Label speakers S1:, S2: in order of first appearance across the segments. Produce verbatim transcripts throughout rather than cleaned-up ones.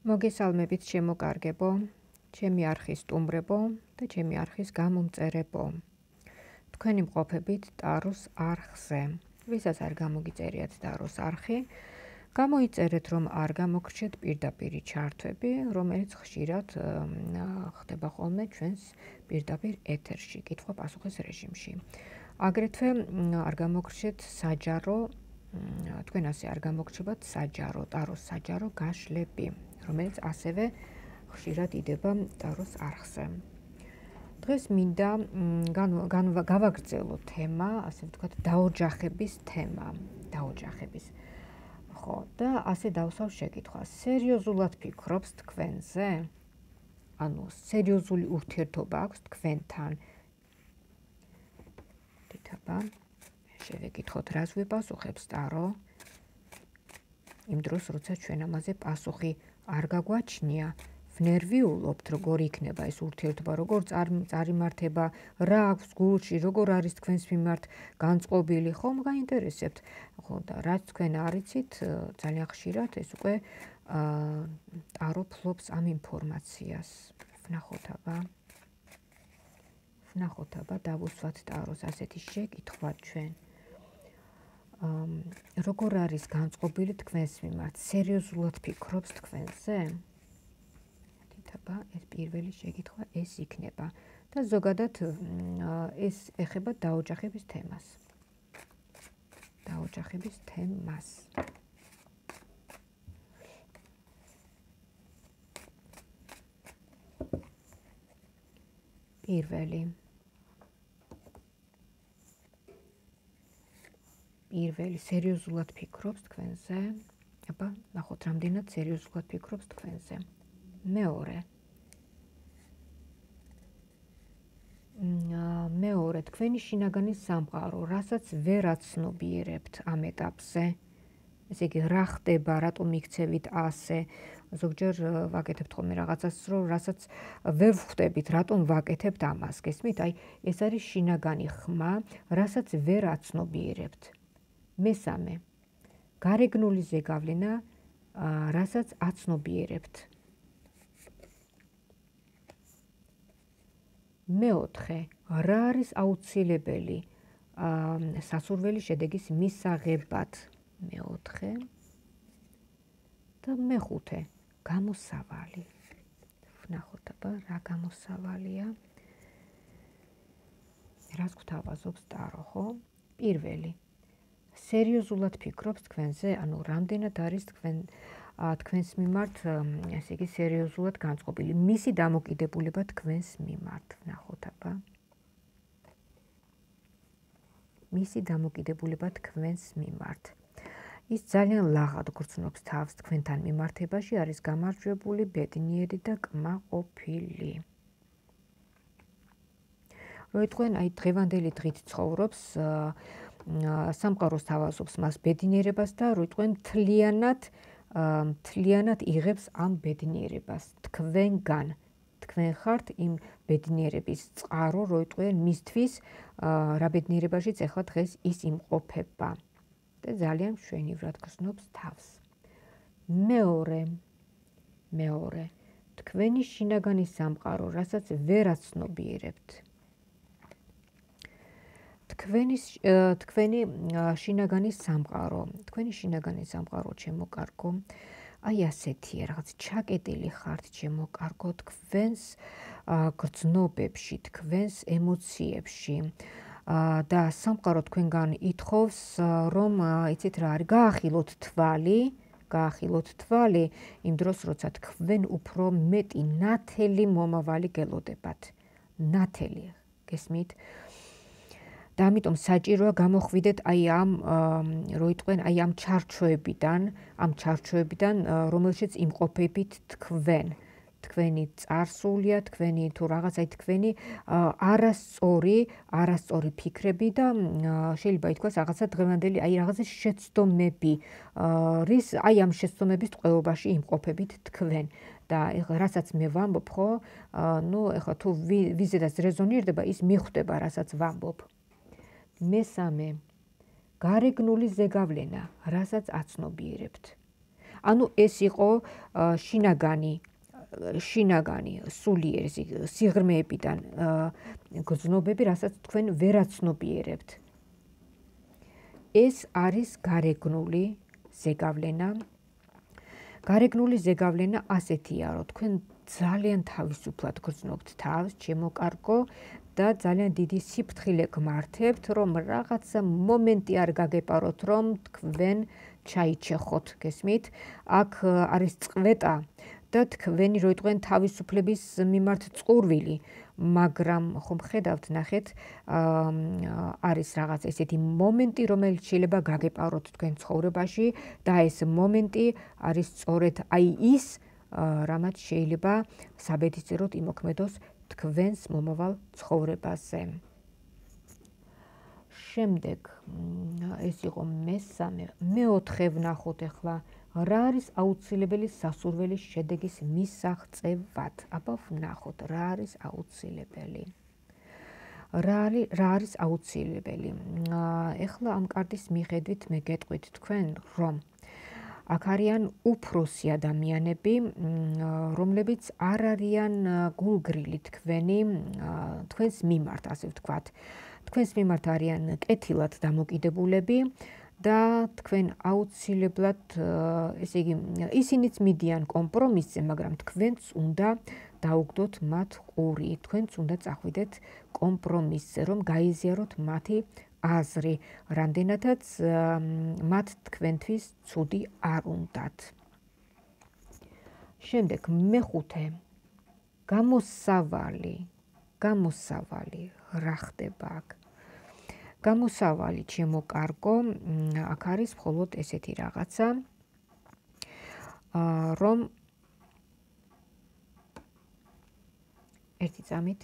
S1: მოგესალმებით ჩემო კარგებო, ჩემი არხის სტუმრებო და ჩემი არხის გამომწერებო. თქვენი მყოფებით ტაროს არხზე. ვისაც არ გამოგიწერიათ ტაროს არხი, გამოიწერეთ რომ არ გამოგრჩეთ პირდაპირი ჩართვები, რომელიც ხშირად ხდება ხოლმე ჩვენს პირდაპირ ეთერში, კითხვა-პასუხის რეჟიმში. აგრეთვე არ გამოგრჩეთ საჯარო, თქვენ ასე არ გამოგრჩებათ საჯარო, ტაროს საჯარო გაშლები, რომელიც ასევე ხშირად იდება ტაროს არხზე. დღეს მინდა გავაგრძელო თემა, ასე ვთქვათ, დაოჯახების თემა, დაოჯახების. ხო, და ასე დავსვავ შეკითხვას. სერიოზულად ფიქრობს თქვენზე? ანუ სერიოზული ურთიერთობა აქვს თქვენთან? თითაბა, შევეკითხოთ, რას ვიპასუხებს ტარო? იმ დროს, როცა ჩვენ ამაზე პასუხი არ გაგვაჩნია, ვნერვიულობთ, როგორ იქნება ეს ურთიერთობა, როგორ წარიმართება, რა აქვს გულში, როგორ არის თქვენს მიმართ განწყობილი, ხომ გაინტერესებთ. ხო, და რაც თქვენ არ იცით, ძალიან ხშირად ეს უკვე ტარო ფლობს ამ ინფორმაციას. ვნახოთ აბა. ვნახოთ აბა, დავუსვათ ტაროს ასეთი შეკითხვა ჩვენ. როგორ არის განწყობილი თქვენს მიმართ? სერიოზულად ფიქრობს თქვენზე? თითაბა, ეს პირველი შეკითხვა ეს იქნება და ზოგადად ეს ეხება დაოჯახების თემას. დაოჯახების თემას. პირველი პირველი სერიოზულად ფიქრობს თქვენზე? აბა, ნახოთ, რამდენად სერიოზულად ფიქრობს თქვენზე. მეორე. მეორე, თქვენი შინაგანი სამყარო, რასაც ვერ აცნობიერებთ ამ ეტაპზე. ესე იგი, რა ხდება, რატომ იქცევით ასე? ზოგჯერ ვაკეთებთ ხოლმე რაღაცას, რომ რასაც ვერ ვხვდებით, რატომ ვაკეთებთ ამას. გესმით? აი, ეს არის შინაგანი ხმა, რასაც ვერ აცნობიერებთ. მესამე, გარეგნული ზეგავლენა, რასაც აცნობიერებთ. მეოთხე, რა არის აუცილებელი სასურველი შედეგის მისაღებად? მეოთხე და მეხუთე, გამოსავალი. ვნახოთ აბა, რა გამოსავალია? რას გვთავაზობს ტარო, ხო? პირველი, სერიოზულად ფიქრობს თქვენზე, ანუ რამდენად არის თქვენ თქვენს მიმართ, ესე იგი, სერიოზულად განწყობილი, მისი დამოკიდებულება თქვენს მიმართ. ვნახოთ აბა. მისი დამოკიდებულება თქვენს მიმართ. ის ძალიან ლაღად გრძნობს თავს თქვენთან მიმართებაში, არის გამარჯვებული, ბედნიერი და კმაყოფილი. როიტყვენ აი დღევანდელი დღით ცხოვრობს, სამყაროს თავაზობს მას ბედნიერებას და როიტყვენ მთლიანად მთლიანად იღებს ამ ბედნიერებას თქვენგან. თქვენ ხართ იმ ბედნიერების წყარო, როიტყვენ მისთვის რა ბედნიერებაშიც ახლა დღეს ის იმყოფება და ძალიან მშვენივრად გრძნობს თავს. მეორე, მეორე, თქვენი შინაგანი სამყარო, რასაც ვერ აცნობიერებთ. თქვენი თქვენი შინაგანი სამყარო, თქვენი შინაგანი სამყარო, ჩემო კარგო, აი ასეთია, რაღაც ჩაკეტილი ხართ, ჩემო კარგო, თქვენს გრძნობებში, თქვენს ემოციებში. და სამყარო თქვენგან ითხოვს, რომ იცით რა არის, გაახილოთ თვალი, გაახილოთ თვალი იმ დროს, როცა თქვენ უფრო მეტი ნათელი მომავალი გელოდებათ. ნათელი, გესმით? და ამიტომ საჭიროა გამოხვიდეთ აი ამ როიტყვენ აი ამ ჩარჩოებიდან, ამ ჩარჩოებიდან, რომელშიც იმყოფებით თქვენ. თქვენი წარსულია, თქვენი თუ რაღაც აი თქვენი არასწორი, არასწორი ფიქრები და შეიძლება ითქვას რაღაცა დღევანდელი აი რაღაცა შეცდომები, რის აი ამ შეცდომების ტყვეობაში იმყოფებით თქვენ. და რასაც მე ვამბობ, ხო, ნუ ეხლა თუ ვიზედაც რეზონირდება, ის მიხვდება, რასაც ვამბობ. მესამე, გარეგნული ზეგავლენა, რასაც აცნობიერებთ. ანუ ეს იყო შინაგანი შინაგანი სულიერი სიღრმეებიდან გრძნობები, რასაც თქვენ ვერაცნობიერებთ. ეს არის გარეგნული ზეგავლენა. გარეგნული ზეგავლენა ასეთია, რომ თქვენ ძალიან თავისუფლად გრძნობთ თავს, ჩემო კარგო, და ძალიან დიდი სიფრთხილე გმართებთ, რომ რაღაცა მომენტი არ გაგეპაროთ, რომ თქვენ ჩაიჩეხოთ, გესმით? აქ არის წყვეტა და თქვენი რო იყვენ თავისუფლების მიმართ წყურვილი, მაგრამ ხომ ხედავთ, ნახეთ, არის რაღაც ესეთი მომენტი, რომელიც შეიძლება გაგეპაროთ თქვენ ცხოვრებაში და ეს მომენტი არის სწორედ აი ის, რამაც შეიძლება საბედისწეროდ იმოქმედოს თქვენს მომავალ ცხოვრებაზე. შემდეგ ეს იყო მესამე, მეოთხე ვნახოთ ახლა, რა არის აუცილებელი სასურველის შედეგის მისაღწევად? აბა ვნახოთ, რა არის აუცილებელი. რა არის აუცილებელი? ეხლა ამ კარტის მიხედვით მე გეტყვით თქვენ, რომ აქ არიან უფროსი ადამიანები, რომლებიც არ არიან გულგრილი თქვენი, თქვენს მიმართ, ასე ვთქვათ. თქვენს მიმართ არიან კეთილად დამოკიდებულები და თქვენ აუცილებლად, ესე იგი, ისინიც მიდიან კომპრომისზე, მაგრამ თქვენც უნდა დაუგდოთ მათ ყური, თქვენც უნდა წახვიდეთ კომპრომისზე, რომ გაიზიაროთ მათი აზრი, რამდენადაც მათ თქვენთვის ცუდი არ უნდათ. შემდეგ მეხუთე, გამოსავალი, გამოსავალი, რა ხდება აქ? გამოსავალი, ჩემო კარგო, აქ არის მხოლოდ ესეთი რაღაცა, რომ ერთი წამით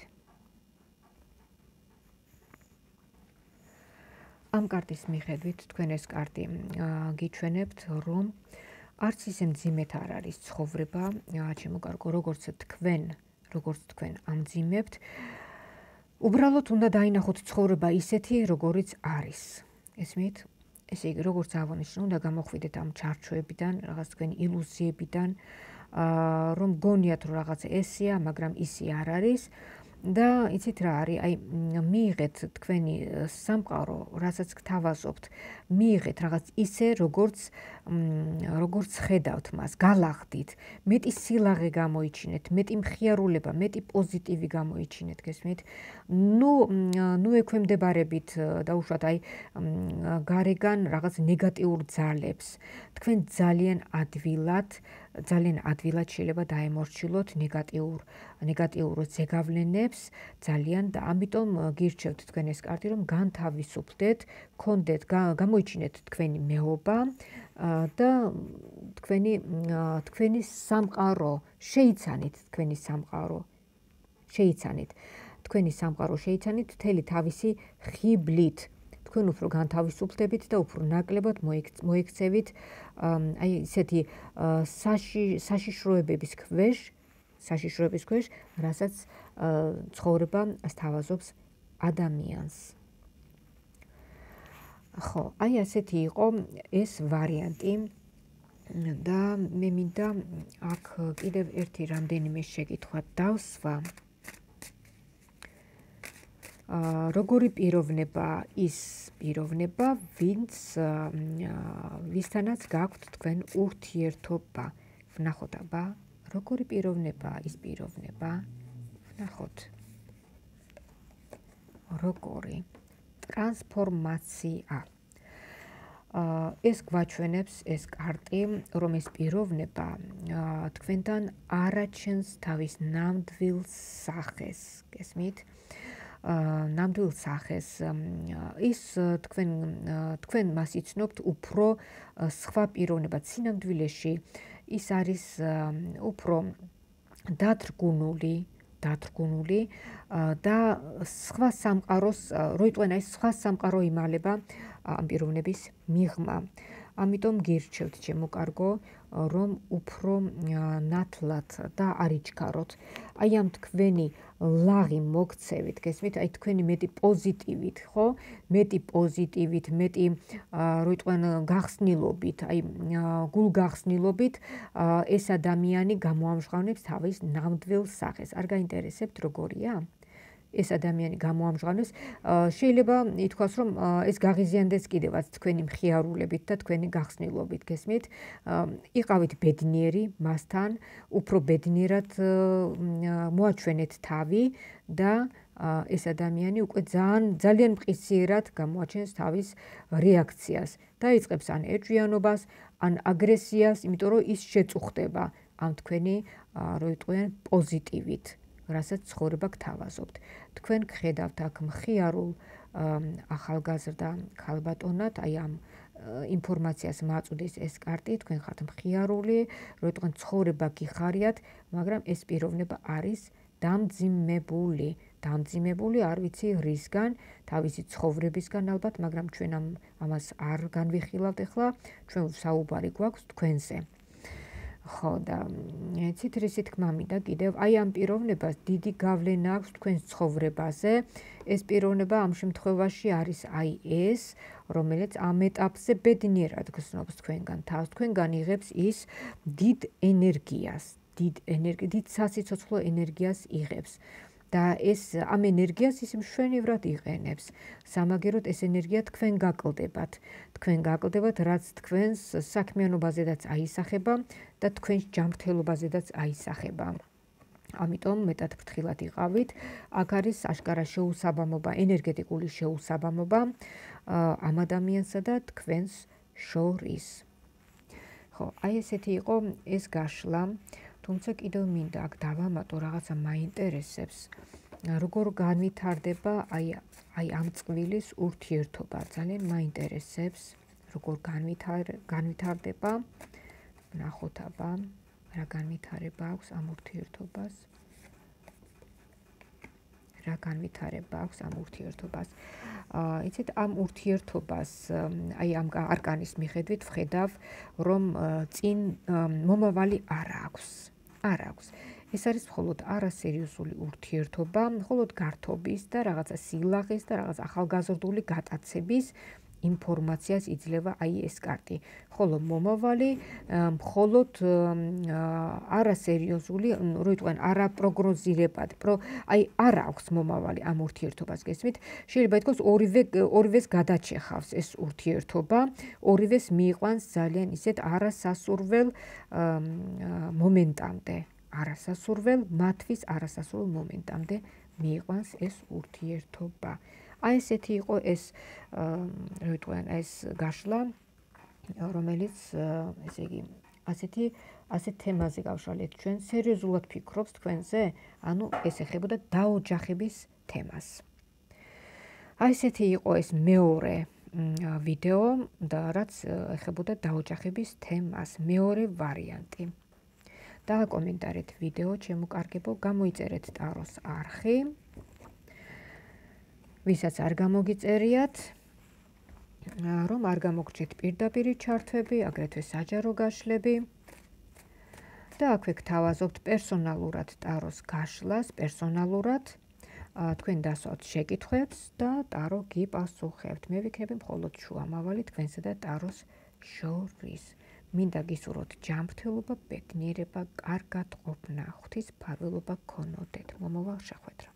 S1: ამ კარტის მიხედვით თქვენ ეს კარტი გიჩვენებთ, რომ არც ისე მძიმედ არ არის ცხოვრება, ჩემო კარგო, როგორც თქვენ, როგორც თქვენ ამძიმებთ, უბრალოდ უნდა დაინახოთ ცხოვრება ისეთი, როგორიც არის. ესმით? ესე იგი, როგორც აღნიშნე, უნდა გამოხვიდეთ ამ ჩარჩოებიდან, რაღაც თქვენი ილუზიებიდან, რომ გონიათ, რომ რაღაც ესეა, მაგრამ ისე არ არის. და იცით რა არის, აი მიიღეთ თქვენი სამყარო, რასაც გთავაზობთ, მიიღეთ რაღაც ისე, როგორც როგორც ხედავთ მას, galaghdit, მეტი სილაღე გამოიჩინეთ, მეტი მხიარულება, მეტი პოზიტივი გამოიჩინეთ, გესმით? ნუ ნუ ექვემდებარებით დაუშვათ აი გარეგან რაღაც ნეგატიურ ძალებს. თქვენ ძალიან ადვილად ძალიან ადვილად შეიძლება დაემორჩილოთ ნეგატიურ ნეგატიურ ზეგავლენებს ძალიან და ამიტომ გირჩევთ თქვენ ეს კარტი, რომ განთავისუფლდეთ, გქონდეთ, გამოიჩინეთ თქვენი მეობა და თქვენი თქვენი სამყარო, შეიცანით თქვენი სამყარო, შეიცანით თქვენი სამყარო, შეიცანით მთელი თავისი ხიბლით. თქვენ უფრო განთავისუფლდებით და უფრო ნაკლებად მოიქცევით აი ესეთი საშიშროებების ქვეშ, საშიშროების ქვეშ, რასაც ცხოვრება სთავაზობს ადამიანს. ხო, აი ასეთი იყო ეს ვარიანტი და მე მინდა აქ კიდევ ერთი რამდენიმე შეკითხვა დავსვა. როგორი პიროვნება ის პიროვნება, ვინც ვისთანაც გაქვთ თქვენ ურთიერთობა. ვნახოთ აბა, როგორი პიროვნება ის პიროვნება? ვნახოთ. როგორი ტრანსფორმაცია. ეს გვაჩვენებს ეს კარტი, რომ ეს პიროვნება თქვენთან არაჩენს თავის ნამდვილ სახეს, გესმით? ნამდვილ სახეს ის თქვენ თქვენ მას იცნობთ უფრო სხვა პიროვნებად სინამდვილეში ის არის უფრო დათრგუნული დათრგუნული და სხვა სამყაროს რო იტყვენ აი სხვა სამყარო იმალება ამ პიროვნების მიღმა ამიტომ გირჩევთ ჩემო კარგო, რომ უფრო ნათლად და არ იჩქაროთ. აი ამ თქვენი ლაღი მოგცევით, გესმით? აი თქვენი მეტი პოზიტივით, ხო? მეტი პოზიტივით, მეტი რო იტყვიან გახსნილობით, აი გულგახსნილობით ეს ადამიანი გამოამჟღავნებს თავის ნამდვილ სახეს. არ გაინტერესებთ როგორია? ეს ადამიანი გამოამჟღავნებს, შეიძლება ითქვას, რომ ეს გაღიზიანდეს კიდევაც თქვენი მხიარულებით და თქვენი გახსნილობით, გესმით? იყავით ბედნიერი მასთან, უფრო ბედნიერად მოაჩვენეთ თავი და ეს ადამიანი უკვე ძალიან ძალიან მყისიერად გამოაჩენს თავის რეაქციას. დაიწყებს ან ეჭვიანობას, ან აგრესიას, იმიტომ რომ ის შეწუხდება ამ თქვენი, რო იტყვიან, პოზიტივით. რასაც ცხოვრება გთავაზობთ. თქვენ გხედავთ აქ მხიარულ ახალგაზრდა ქალბატონად, აი ამ ინფორმაციას მაწვდის ეს კარტი, თქვენ ხართ მხიარული, რო იტყვიან ცხოვრება გიხარიათ, მაგრამ ეს პიროვნება არის დამძიმებული. დამძიმებული არ ვიცი რისგან, თავისი ცხოვრებისგან ალბათ, მაგრამ ჩვენ ამ ამას არ განვიხილავთ ახლა, ჩვენ საუბარი გვაქვს თქვენზე. ხო და იცით რისი თქმა მინდა კიდევ აი ამ პიროვნებას დიდი გავლენა აქვს თქვენს ცხოვრებაზე. ეს პიროვნება ამ შემთხვევაში არის აი ეს, რომელიც ამ ეტაპზე ბედნიერად გრძნობს თქვენგან თავს. თქვენგან იღებს ის დიდ ენერგიას, დიდ ენერგი, დიდ სასიცოცხლო ენერგიას იღებს. და ეს ამ ენერგიას ის მშვენივრად იყენებს. სამაგეროდ ეს ენერგია თქვენ გაკლდებათ. თქვენ გაკლდებათ, რაც თქვენს საქმიანობაზედაც აისახება და თქვენს ჯანმრთელობაზედაც აისახება. ამიტომ მეტად ფრთხილად იყავით. აქ არის აშკარა შეუსაბამობა, ენერგეტიკული შეუსაბამობა ამ ადამიანსა და თქვენს შორის. ხო, აი ესეთი იყო ეს გაშლა. თუმცა კიდევ მინდა აქ დავამატო რაღაცა მაინტერესებს. როგორ განვითარდება აი აი ამ წყვილის ურთიერთობა, ძალიან მაინტერესებს, როგორ განვითარდება. ნახოთ აბა, რა განვითარება აქვს ამ ურთიერთობას. რა განვითარება აქვს ამ ურთიერთობას. იცით, ამ ურთიერთობას აი ამ არკანის მიხედვით ვხედავ, რომ წინ მომავალი არ აქვს. არ აქვს. ეს არის მხოლოდ არასერიოზული ურთიერთობა, მხოლოდ გართობის და რაღაცა სილაღის და რაღაც ახალგაზრდული გატაცების ინფორმაციას იძლევა აი ეს კარტი. ხოლო მომავალი მხოლოდ არასერიოზული, რო იტყვიან, არაპროგნოზირებადი, აი არ აქვს მომავალი ამ ურთიერთობას, გესმით? შეიძლება ითქვას ორივე ორივეს გადაჩეხავს ეს ურთიერთობა, ორივეს მიიყვანს ძალიან ისეთ არასასურველ მომენტამდე. არასასურველ, მათთვის არასასურველ მომენტამდე მიიყვანს ეს ურთიერთობა. აი ესეთი იყო ეს, რო იტყვიან, ეს გაშლა, რომელიც, ესე იგი, ასეთი ასეთ თემაზე გავშალეთ ჩვენ, სერიოზულად ფიქრობს თქვენზე, ანუ ეს ეხებოდა დაოჯახების თემას. აი ესეთი იყო ეს მეორე ვიდეო და რაც ეხებოდა დაოჯახების თემას, მეორე ვარიანტი. დააკომენტარეთ ვიდეო, ჩემო კარგებო, გამოიწერეთ ტაროს არხი. ვისაც არ გამოგიწერიათ, რომ არ გამოგრჩეთ პირდაპირი ჩართვები, აგრეთვე საჯარო გაშლები. და აქვე გთავაზობთ პერსონალურად ტაროს გაშლას, პერსონალურად. თქვენ დასვათ შეკითხვებს და ტარო გიპასუხებთ. მე ვიქნები მხოლოდ შუამავალი თქვენსა და ტაროს შორის. მინდა გისურვოთ ჯანმრთელობა, ბედნიერება, კარგად ყოფნა, ღვთის მფარველობა გქონოდეთ. მომავალ შეხვედრამდე.